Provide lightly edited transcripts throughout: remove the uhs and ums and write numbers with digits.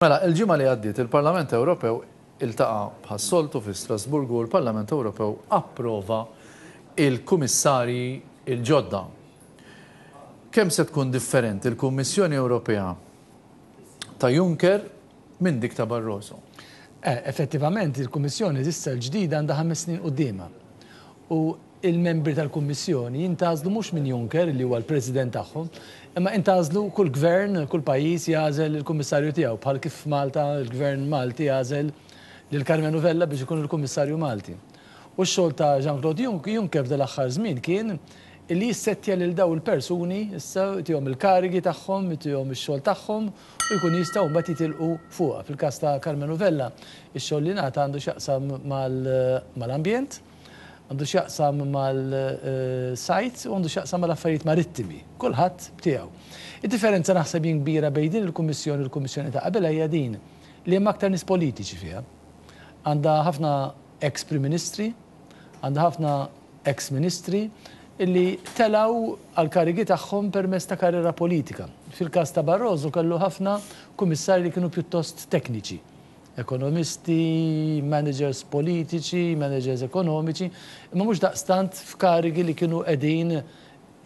Mela, il-ġimgħa li għaddiet il-Parlament Ewropew iltaqa' bħas-soltu fi Strasburgu u l-Parlament Ewropew approva il-Kummissarji l-ġodda. Kemm se tkun differenti l-Kummissjoni Ewropea ta' Juncker minn dik ta' Barroso? Effettivament, il-Kummissjoni issa l-ġdida għandha 5 snin quddiemha. U il-membri tal-Kummissjoni jintgħażlu mhux minn Juncker, li huwa l-President tagħhom, imma intgħażlu kull gvern, kull pajjiż jagħżel il-kummissarju tiegħu, bħal kif f'Malta l-gvern Malti jagħżel lil Karmenu Vella biex ikun il-Kummissarju Malti. U x-xogħol ta' Jean-Claude Juncker f'dal-aħħar żmien kien illi jissettja lil daw il-persuni issa, jtihom il-karigi tagħhom, jtihom ix-xogħol tagħhom u jkunu jistgħu mbagħad jitilqu fuqha. Fil-każ ta' Karmenu Vella, ix-xogħol li ngħata għandu x'jaqsam mal-ambjent, għandu x'jaqsam mal-sajd u għandu x'jaqsam mal-affarijiet marittimi. Kulħadd b'tiegħu. Id-differenza naħseb jien kbira bejn din il-Kummissjoni u l-Kummissjoni ta' qabilha hija din li hemm aktar nies politiċi fiha. Għandha ħafna ex Prim Ministri, għandha ħafna ex Ministri illi telgħu għall-karigi tagħhom permezz ta' karriera politika. Fil-każ ta' Barroso kellu ħafna kummissarji li kienu pjuttost tekniċi. Ekonomisti, managers politiċi, managers ekonomiċi, imma mhux daqstant f'karigi li kienu qegħdin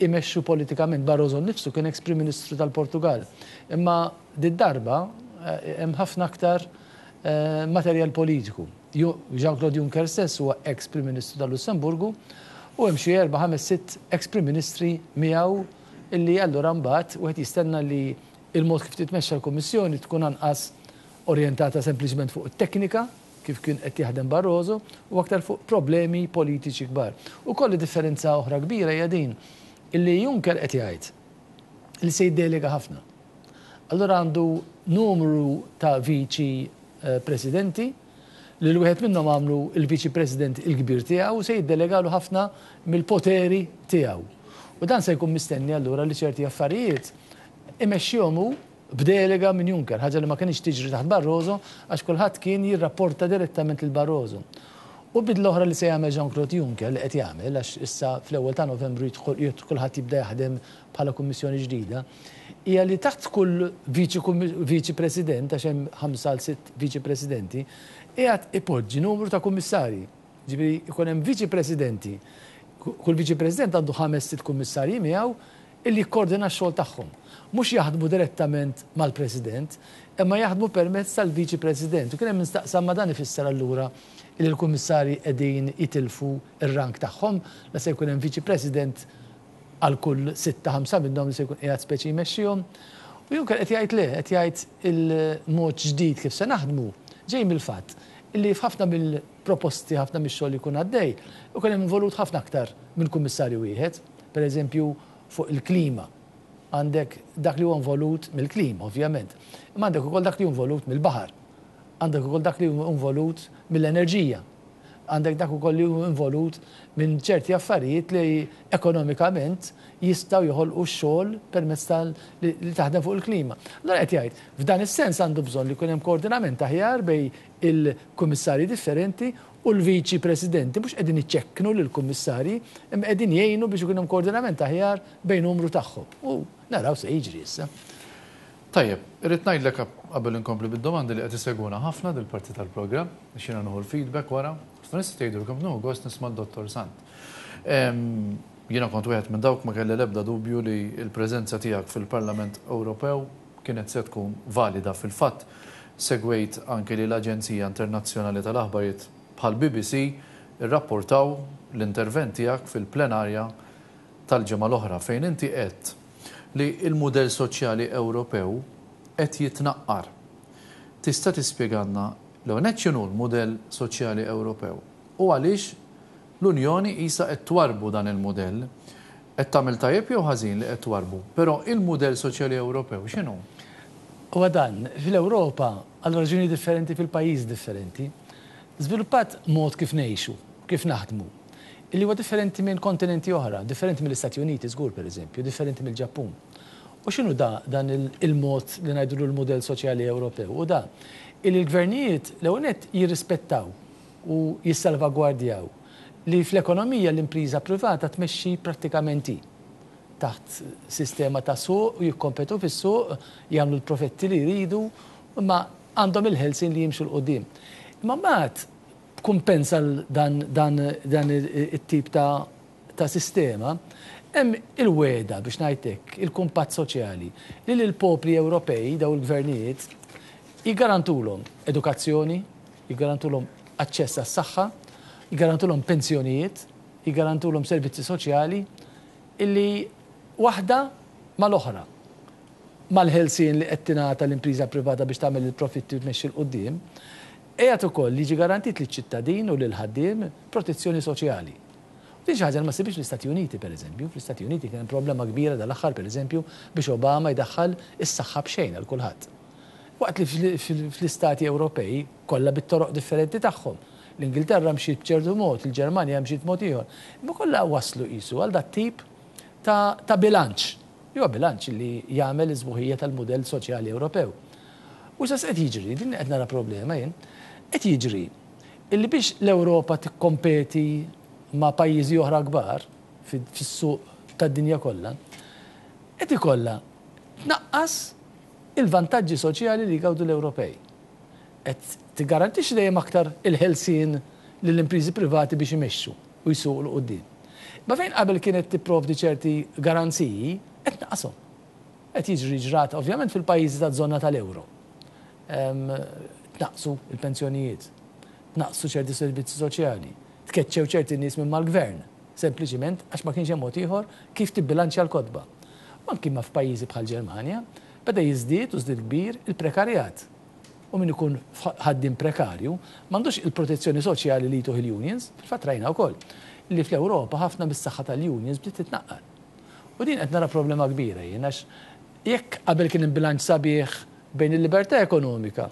imexxu politikament. Barroso nnifsu kien ex Prim Ministru tal-Portugal. Imma did-darba hemm ħafna aktar materjal politiku. Jean-Claude Juncker stess huwa ex Prim Ministru tal-Lussemburgu u hemm xi erba', ħames, sitt ex Prim Ministri miegħu illi allura mbagħad wieħed jistenna li l-mod kif titmexxa l-Kummissjoni tkun anqas orjentata sempliċement fuq it-teknika, kif kien qed jaħdem Barroso, u aktar fuq problemi politiċi kbar. Ukoll differenza oħra kbira hija din, illi Juncker qed jgħid li se jiddelega ħafna. Allura għandu numru ta' viċi presidenti li l-wieħed minnhom għamlu il-viċi president il-kbir tiegħu u se jiddelegalu ħafna mill-poteri tiegħu. U dan se jkun mistenni allura li ċerti affarijiet imexxihom hu b'delega minn Juncker, ħaġa li ma kinitx tiġri taħt Barroso għax kulħadd kien jirrapporta direttament lil Barroso. U bidla oħra li se jagħmel Jean-Claude Juncker, li qed jagħmel, għax issa fl-ewwel ta' Novembru jidħol kulħadd jibda jaħdem bħala Kummissjoni ġdida, hija li taħt kull viċi president, għax hemm 5 għal 6 viċi presidenti, qiegħed ipoġġi numru ta' kummissarji. Ġifieri jkun hemm viċi presidenti, kull viċi president għandu ħames sitt kummissarji miegħu illi jikkoordina x-xogħol tagħhom. Mhux jaħdmu direttament mal-President, imma jaħdmu permezz tal-Viċi President. U kien hemm min staqsa ma dan ifisser allura illi l-Kummissarji qegħdin jitilfu r-rank tagħhom, la se jkun hemm Viċi President għal kull sitta ħamsa minnhom li se jkun qiegħed speċi jmexxihom. U Juncker qed jgħid le, qed jgħid il-mod ġdid kif se naħdmu ġej mill-fatt illi f'ħafna mill-proposti, ħafna mix-xogħol li jkun għaddej, ikun hemm involut ħafna aktar minn kummissarju wieħed. Per eżempju, fuq il-klima. Għandek dak li huwa involut mill-klima, ovvjament. Imma għandek ukoll dak li hu involut mill-baħar. Għandek ukoll dak li hu involut mill-enerġija. Għandek dak ukoll li hu involut minn ċerti affarijiet li ekonomikament jistgħu joħolqu x-xogħol permezz tal li taħdem fuq il-klima. Allura qed jgħid, f'dan is-sens għandu bżonn li jkun hemm koordinament aħjar bejn il-kummissarji differenti u l-viċi presidenti mhux qegħdin iċekknu lill-kummissarji imma qegħdin jgħinu biex ikun hemm koordinament aħjar bejn numru tagħhom. U naraw se jiġri issa. Tajjeb, irrid ngħidlek qabel inkompli bid-domandi li qed isegwuna ħafna dil-parti tal-programm, għax jiena nieħu l-feedback wara. Ħafna nies qed jgħidu li kemm nieħu gost nisma' d-Dottor Sant. Jiena kont wieħed minn dawk ma kelli l-ebda dubju li l-preżenza tiegħek fil-Parlament Ewropew kienet se tkun valida. Fil-fatt, segwejt anki li l-aġenzija internazzjonali tal-aħbarijiet bħall-BBC irrapportaw l-intervent tiegħek fil-plenarja tal-ġimgħa l-oħra fejn inti għedt li l-mudell soċjali Ewropew qed jitnaqqar. Tista' tispjegalna l-ewwel nett x'inhu l-mudell soċjali Ewropew u għaliex l-Unjoni qisha qed twarrbu dan il-mudell? Qed tagħmel tajjeb jew ħażin li qed twarrbu? Però il-mudell soċjali Ewropew x'inhu? Huwa dan, fil-Ewropa, għal raġunijiet differenti fil-pajjiżi differenti, żviluppat mod kif ngħixu, kif naħdmu, illi huwa differenti minn kontinenti oħra, differenti mill-Istati Uniti żgur pereżempju, differenti mill-Ġappun. U x'inhu da dan il-mod li ngħidulu l-mudell soċjali Ewropew? Hu da, illi l-gvernijiet l-ewwel nett jirrispettaw u jissalvagwardjaw li fl-ekonomija l-impriża privata tmexxi prattikament hi taħt sistema ta' suq u jikkompetu fis-suq, jagħmlu l-profetti li jridu, imma għandhom il-ħelsien li jimxu 'l quddiem. Imma mbagħad b'kumpens għal dan dan dan it-tip ta' ta' sistema, hemm il-wegħda, biex ngħid hekk, il-kumpatt soċjali li lill-popli Ewropej dawn il-gvernijiet jiggarantulhom edukazzjoni, jiggarantulhom aċċess għas-saħħa, jiggarantulhom pensjonijiet, jiggarantulhom servizzi soċjali illi waħda mal-oħra, mal-ħelsien li qed tingħata l-impriża privata biex tagħmel il-profitti u tmexxi 'l quddiem, qiegħed ukoll jiġi garantit liċ-ċittadin u lill-ħaddiem protezzjoni soċjali. U din xi ħaġa li ma ssibhiex fl-Istati Uniti, pereżempju. Fl-Istati Uniti kien hemm problema kbira dal-aħħar, pereżempju, biex Obama jdaħħal is-saħħa b'xejn għal kulħadd. Waqt li fl-istati Ewropej, kollha bit-toroq differenti tagħhom, l-Ingilterra mxiet b'ċertu mod, il-Ġermanja mxiet mod ieħor, imma kollha waslu qisu għal dat-tip ta' ta' bilanċ. Li huwa bilanċ li jagħmel is-sbuħija tal-mudell soċjali Ewropew. U issa x'qed jiġri? Din qed nara problema jien. Qed jiġri illi biex l-Ewropa tikkompeti ma' pajjiżi oħra kbar fis-suq tad-dinja kollha, qed ikollha tnaqqas il-vantaġġi soċjali li jgawdu l-Ewropej. Qed tiggarantixxi dejjem aktar il-ħelsien lill-impriżi privati biex imexxu u jsuqu 'l quddiem. Imma fejn qabel kienet tipprovdi ċerti garanziji, qed tnaqqashom. Qed jiġri ġrat ovvjament fil-pajjiżi taż-żona tal-ewro. Tnaqqsu l-pensjonijiet, tnaqqsu ċerti servizzi soċjali, tkeċċew ċerti nies minn mal-gvern, sempliċiment għax ma kienx hemm mod ieħor kif tibbilanċja l-kotba. U anki ma f'pajjiżi bħall-Ġermanja, beda jiżdied u żdied kbir il-prekarjat. U min ikun ħaddiem prekarju m'għandux il-protezzjoni soċjali li jtuh il-unions. Fil-fatt rajna wkoll li fl-Ewropa ħafna mis-saħħa tal-unions bdiet titnaqqar. U din qed nara problema kbira jien għax jekk qabel kien hemm bilanċ sabiħ bejn il-libertà ekonomika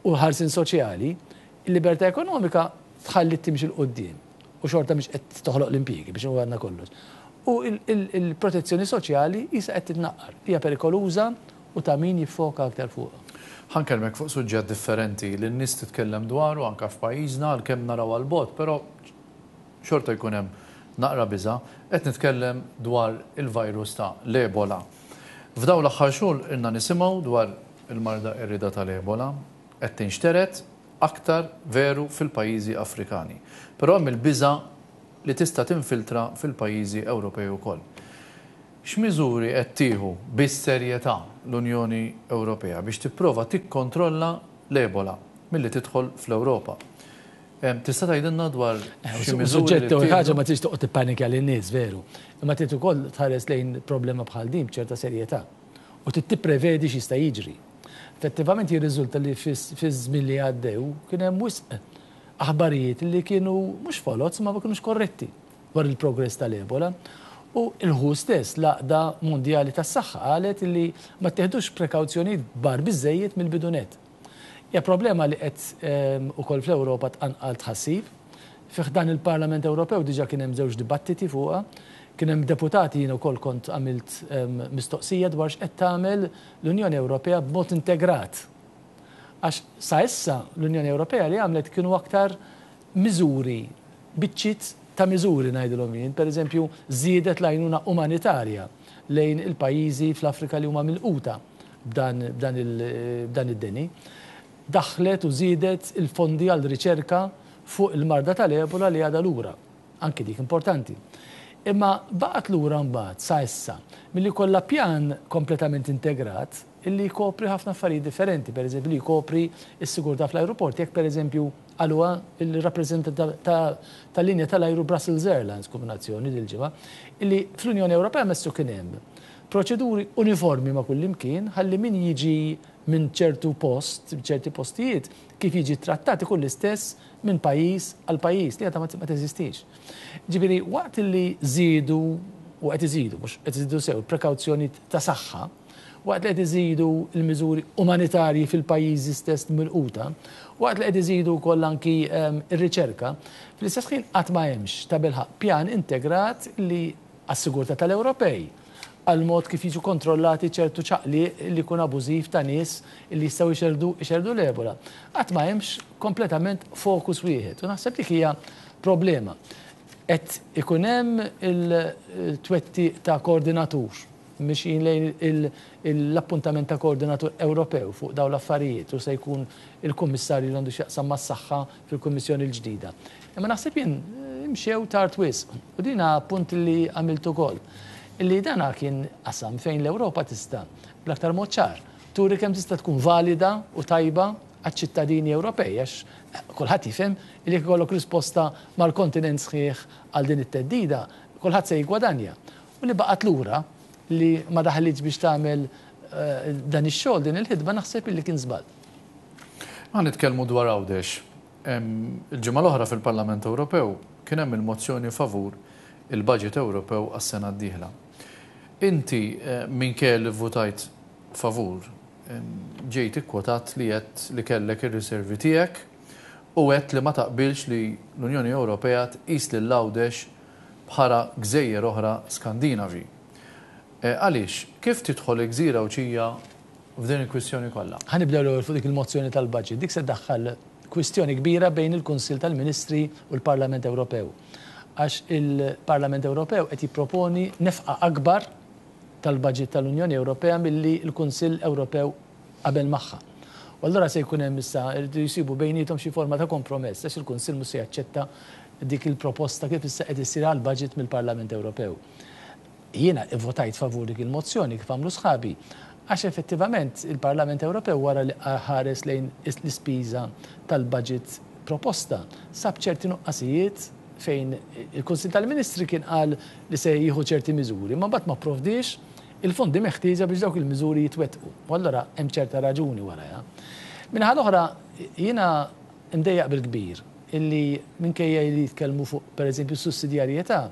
u l-ħarsien soċjali, il-libertà ekonomika tħalliet timxi 'l quddiem u xorta mhix qed toħloq l-impjiegi biex għandna kollox. U l-protezzjoni soċjali qisha qed titnaqqar. Hija perikoluża u ta' min jiffoka aktar fuqha. Ħa nkellmek fuq suġġett differenti li n-nies titkellem dwaru anke f'pajjiżna għalkemm naraw għall-bogħod, però xorta jkun hemm naqra biża'. Qed nitkellem dwar il-virus ta' l-Ebola. F'dawn l-aħħar xhur ilna nisimgħu dwar il-marda qerrieda tal-Ebola qed tinxtered aktar veru fil-pajjiżi Afrikani. Però hemm il-biża' li tista' tinfiltra fil-pajjiżi Ewropej ukoll. X'miżuri qed tieħu bis-serjetà l-Unjoni Ewropea biex tipprova tikkontrolla l-Ebola milli tidħol fl-Ewropa? Tista' tgħidilna dwar xi miżuri li ttieħdu? Ħaġa ma tridx toqgħod tippanikja lin-nies, veru. Imma trid ukoll tħares lejn problema bħal din b'ċerta serjetà. U trid tipprevedi x'jista' jiġri. Effettivament jirriżulta li fiż-żmien li għaddew kien hemm wisq aħbarijiet li kienu mhux foloz imma ma kinux korretti dwar il-progress tal-Ebola. U l-WHO stess, l-Għaqda Mondjali tas-Saħħa, qalet li ma ttieħdux prekawzjonijiet kbar biżżejjed mill-bidu nett. Hija problema li qed ukoll fl-Ewropa tqanqal tħassib. Fi ħdan il-Parlament Ewropew diġà kien hemm żewġ dibattiti fuqha. Kien hemm deputati, jien ukoll kont għamilt mistoqsija dwar x'qed tagħmel l-Unjoni Ewropea b'mod integrat. Għax sa issa l-Unjoni Ewropea li għamlet kienu aktar miżuri, biċċiet ta' miżuri ngħidilhom jien, pereżempju żiedet l-għajnuna umanitarja lejn il-pajjiżi fl-Afrika li huma milquta b'dan b'dan id-deni. Daħħlet u żiedet il-fondi għal riċerka fuq il-marda tal-Ebola li għadha lura. Anki dik importanti. Imma baqgħet lura mbagħad sa issa milli jkollha pjan kompletament integrat illi jkopri ħafna affarijiet differenti, pereżempju li jkopri s-sigurtà fl-ajruport jekk pereżempju qaluha l-rappreżentant tal-linja tal-ajru Brussels Airlines kombinazzjoni dil-ġimgħa illi fl-Unjoni Ewropea messu kien hemm proċeduri uniformi ma' kullimkien ħalli min jiġi minn ċertu post, ċerti postijiet, kif jiġi trattat ikun l-istess minn pajjiż għal pajjiż li għadha ma teżistix. Ġifieri waqt li żiedu u qed iżidu, mhux qed iżidu sew, prekawzjonijiet ta' saħħa, waqt li qed iżidu l-miżuri umanitarji fil-pajjiżi stess milquta, waqt li qed iżidu wkoll anki r-riċerka, fl-istess ħin qatt ma hemmx tabilħaqq pjan integrat li għas-sigurtà tal-Ewropej, għall-mod kif jiġu kontrollati ċertu ċaqliq li jkun abużiv ta' nies li jistgħu jxerrdu jxerrdu l-Ebola. Qatt ma hemmx kompletament fokus wieħed u naħseb dik hija problema. Qed ikun hemm il-twettiq ta' koordinatur. Mixjin lejn l-appuntament ta' koordinatur Ewropew fuq dawn l-affarijiet u se jkun il-Kummissarju li għandu x'jaqsam mas-saħħa fil-Kummissjoni l-ġdida. Imma naħseb jien imxew tard wisq u din punt li għamilt ukoll. Illi dana kien qasam fejn l-Ewropa tista' bl-aktar mod ċar turi kemm tista' tkun valida u tajba għaċ-ċittadini Ewropej għax kulħadd jifhem li jekk ikollok risposta mal-kontinent sħiħ għal din it-theddida, kulħadd se jiggwadanja. U li baqgħet lura li ma daħlitx biex tagħmel dan ix-xogħol, din il-ħidma naħseb illi kien żball. Ħa nitkellmu dwar Għawdex. Il-ġimgħa l-oħra fil-Parlament Ewropew kien hemm il-mozzjoni favur il-budget Ewropew għas-sena d-dieħla. Inti minkejja li vvutajt favur, ġejt ikkwotat li għedt li kellek ir-riservi tiegħek u għedt li ma taqbilx li l-Unjoni Ewropea tqis lil Għawdex bħala gżejjer oħra Skandinavi. Għaliex? Kif tidħol il-gżira Għawdxija f'din il-kwistjoni kollha? Ħa nibdew l-ewwel fuq dik il-mozzjoni tal-budget. Dik se ddaħħal kwistjoni kbira bejn il-Kunsill tal-Ministri u l-Parlament Ewropew. Għax il-Parlament Ewropew qed jipproponi nefqa akbar tal-budget tal-Unjoni Ewropea milli l-Kunsill Ewropew qabel magħha. U allura se jkun hemm issa jridu jsibu bejniethom xi forma ta' kompromess għax il-Kunsill mhux se jaċċetta dik il-proposta kif issa qed issir għall-budget mill-Parlament Ewropew. Jiena ivvotajt favur dik il-mozzjoni kif għamlu sħabi għax effettivament il-Parlament Ewropew wara li ħares lejn l-ispiża tal-budget proposta sab ċerti nuqqasijiet fejn il-Kunsill tal-Ministri kien qal li se jieħu ċerti miżuri, imma mbagħad ma pprovdiex il-fondi meħtieġa biex dawk il-miżuri jitwettqu. U allura hemm ċerta raġuni warajha. Min-naħa l-oħra, jiena mdejjaq bil-kbir illi minkejja li jitkellmu fuq pereżempju s-sussidjarjetà,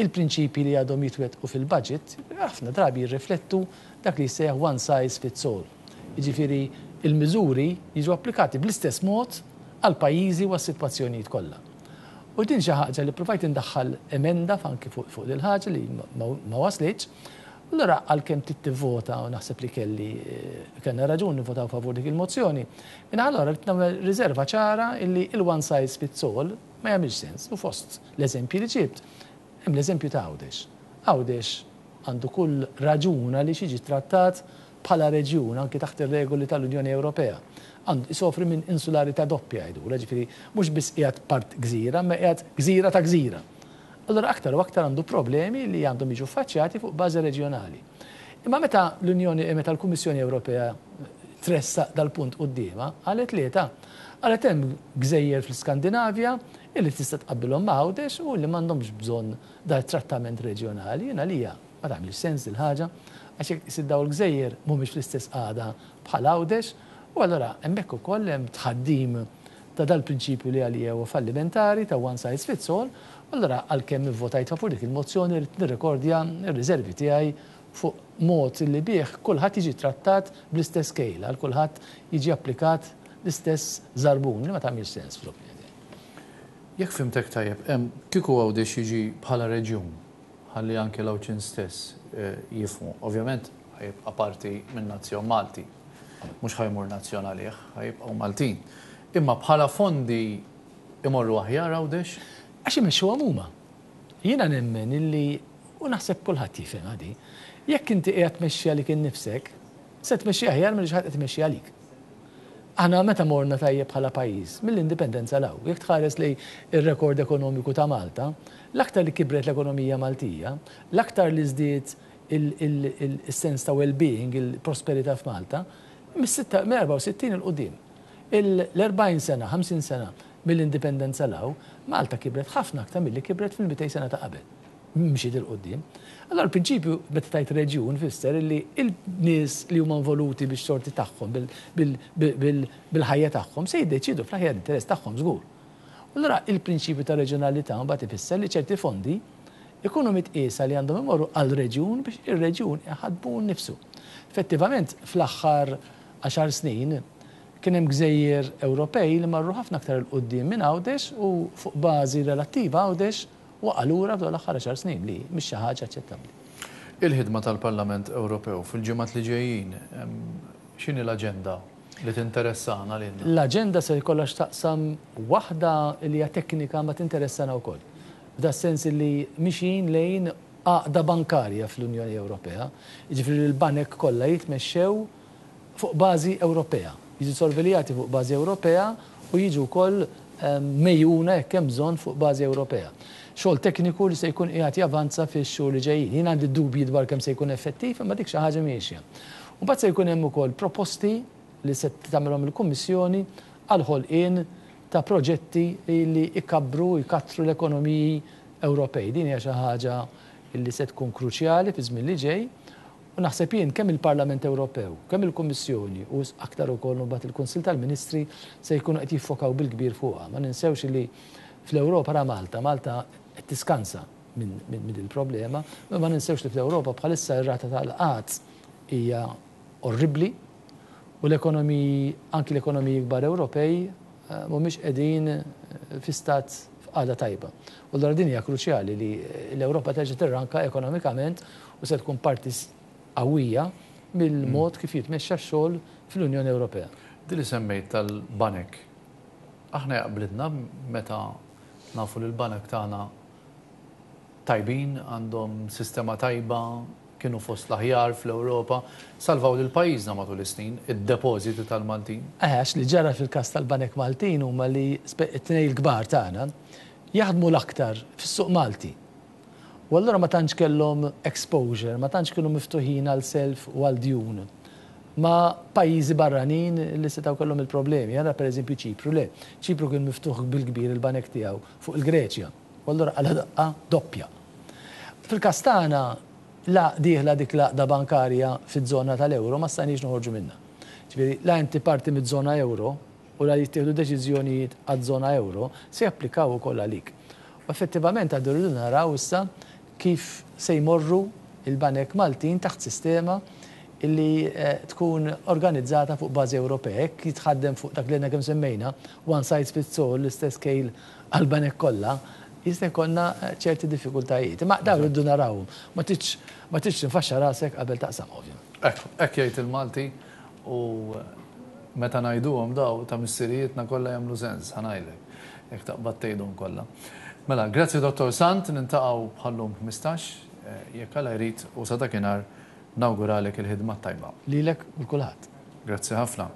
il-prinċipji li għadhom jitwettqu fil-budget ħafna drabi jirriflettu dak li jissejjaħ one size fits all. Jiġifieri l-miżuri jiġu applikati bl-istess mod għall-pajjiżi u għas-sitwazzjonijiet kollha. U din xi ħaġa li ppruvajt indaħħal emenda anki fuq dil-ħaġa li ma waslitx. Allura għalkemm trid tivvota u naħseb li kelli kellna raġun nivvotaw favur dik il-mozzjoni, min-naħa l-oħra rrid nagħmel riserva ċara illi il-one size fits all ma jagħmilx sens u fost l-eżempji li ġibt hemm l-eżempju ta' Għawdex. Għawdex għandu kull raġun għaliex jiġi trattat bħala reġjun anki taħt ir-regoli tal-Unjoni Ewropea. Għandu isofri minn insularità doppja jgħidulha, ġifieri mhux biss qiegħed part gżira, imma qiegħed gżira ta' gżira. Allura aktar u aktar għandu problemi li għandhom jiġu ffaċċjati fuq bażi reġjonali. Imma meta l-Unjoni, meta l-Kummissjoni Ewropea tressaq dal-punt quddiemha, qalet le ta'. Qalet hemm gżejjer fl-Iskandinavja illi tista' tqabbilhom ma' Għawdex u li m'għandhomx bżonn dal-trattament reġjonali. Jien għalija ma tagħmilx sens dil-ħaġa għax jekk tqis li dawn il-gżejjer mhumiex fl-istess qagħda bħal Għawdex u allura hemmhekk ukoll hemm tħaddim ta' dal-prinċipju li għalija huwa fallimentari ta' one size fits all u allura għalkemm ivvotajt favur dik il-mozzjoni rrid nirrekordja r-riservi tiegħi fuq mod li bih kulħadd jiġi trattat bl-istess kejl, għal kulħadd jiġi applikat l-istess żarbun li ma tagħmilx sens fl-opinjoni tiegħi. Jekk fhimtek tajjeb, kieku Għawdex jiġi bħala reġjun, ħalli anke l-Għawdxin stess jifhmu, ovvjament ħa jibqa' parti min-nazzjon Malti, mhux ħa jmur nazzjon għalih, ħa jibqgħu Maltin. Imma bħala fondi imorru aħjar Għawdex? Għax imexxuhom huma. Jiena nemmen illi, u naħseb kulħadd jifhimha di, jekk inti qiegħed tmexxi għalik innifsek, se tmexxi aħjar milli xi ħadd qed imexxi għalik. Aħna meta morna tajjeb bħala pajjiż? Mill-Indipendenza 'l hawn. Jekk tħares lejn ir-rekord ekonomiku ta' Malta, l-aktar li kibret l-ekonomija Maltija, l-aktar li żdied is-sens ta' well-being, il-prosperità f'Malta, mill-64 'il quddiem. L-40 sena, 50 sena mill-Indipendenza 'l hawn, Malta kibret ħafna aktar milli kibret fil-200 sena ta' qabel. Mxiet 'il quddiem. Allura l-prinċipju meta tgħid reġjun fisser illi l-nies li huma involuti bix-xorti tagħhom, bil-ħajja tagħhom se jiddeċiedu fl-aħjar interess tagħhom żgur. Allura il-prinċipju ta' reġjonalità mbagħad ifisser li ċerti fondi jkunu mitqiesa li għandhom imorru għal reġjun biex ir-reġjun iħaddmu hu nnifsu. Effettivament fl-aħħar għaxar snin kien hemm gżejjer Ewropej li marru ħafna aktar 'il quddiem minn Għawdex u fuq bażi relattiva Għawdex Waqa' lura f'dawn l-aħħar għaxar snin li mhix xi ħaġa aċċettabbli. Il-ħidma tal-Parlament Ewropew fil-ġimgħat li ġejjin, x'inhi l-aġenda li tinteressana lilna? L-aġenda se jkollha x'taqsam waħda li hija teknika ma tinteressana wkoll. F'das-sens li mixjin lejn għaqda bankarja fl-Unjoni Ewropea, jiġifieri li l-banek kollha jitmexxew fuq bażi Ewropea, jiġu sorveljati fuq bażi Ewropea u jiġu wkoll megħjuna jekk hemm bżonn fuq bażi Ewropea. Xogħol tekniku li se jkun qiegħed javanza fix-xhur li ġejjin. Jien għandi dubji dwar kemm se jkun effettiv, imma dik xi ħaġa miexja. U mbagħad se jkun hemm ukoll proposti li se tagħmilhom il-Kummissjoni għall-ħolqien ta' proġetti li jkabbru u jkattru l-ekonomiji Ewropej. Din hija xi ħaġa li se tkun kruċjali fiż-żmien li ġej u naħseb jien kemm il-Parlament Ewropew, kemm il-Kummissjoni u aktar ukoll imbagħad il-Kunsill tal-Ministri se jkunu qed jiffokaw bil-kbir fuqha. Ma ninsewx li fl-Ewropa ra Malta, Malta qed tiskansa minn din il-problema, imma ma ninsewx li fl-Ewropa bħalissa r-rata tal-qgħad hija orribbli u l-ekonomiji, anki l-ekonomiji kbar Ewropej mhumiex qegħdin fi stat f'qagħda tajba. U allura din hija kruċjali li l-Ewropa terġa' tirranka ekonomikament u se tkun parti qawwija mill-mod kif jitmexxa x-xogħol fl-Unjoni Ewropea. Din li semmejt tal-banek, aħna jaqblilna meta nafu li l-banek tagħna tajbin, għandhom sistema tajba, kienu fost l-aħjar fl-Ewropa, salvaw lil pajjiżna matul is-snin, id-depożiti tal-Maltin. Eħe, għax li ġara fil-każ tal-banek Maltin huma li it-tnejn il-kbar tagħna jaħdmu l-aktar fis-suq Malti. U allura ma tantx kellhom exposure, ma tantx kienu miftuħin għal self u għal djun ma' pajjiżi barranin li setgħu kellhom il-problemi. Ara pereżempju Ċipru, le. Ċipru kien miftuħ bil-kbir il-banek tiegħu fuq il-Greċja. U allura qala' daqqa doppja. Fil-każ tagħna, la dieħla dik l-għaqda bankarja fiż-żona tal-euro ma stajniex noħorġu minnha. Ġifieri, la inti parti miż-żona euro u la jittieħdu deċiżjonijiet għaż-żona euro se japplikaw ukoll għalik. U effettivament għadu rridu naraw issa kif se jmorru l-banek Maltin taħt sistema li tkun organizzata fuq bażi Ewropea. Jekk jitħaddem fuq dak li għedna kemm semmejna, one size fits all, l-istess kejl għall-banek kollha, jista' jkollna ċerti diffikultajiet. Imma dawn irridu narawhom. Ma tridx ma tridx tinfaxxa rasek qabel taqsam, ovvjament. Hekk, hekk jgħid il-Malti u meta ngħiduhom daw ta' missirijietna kollha jagħmlu sens, ħa ngħidlek, jekk taqbad tgħidhom kollha. Mela, grazzi Dottor Sant, niltaqgħu bħal-lum 15, jekk Alla jrid, u sa dakinhar nawguralek il-ħidma t-tajba. Lilek u 'l kulħadd. Grazzi ħafna.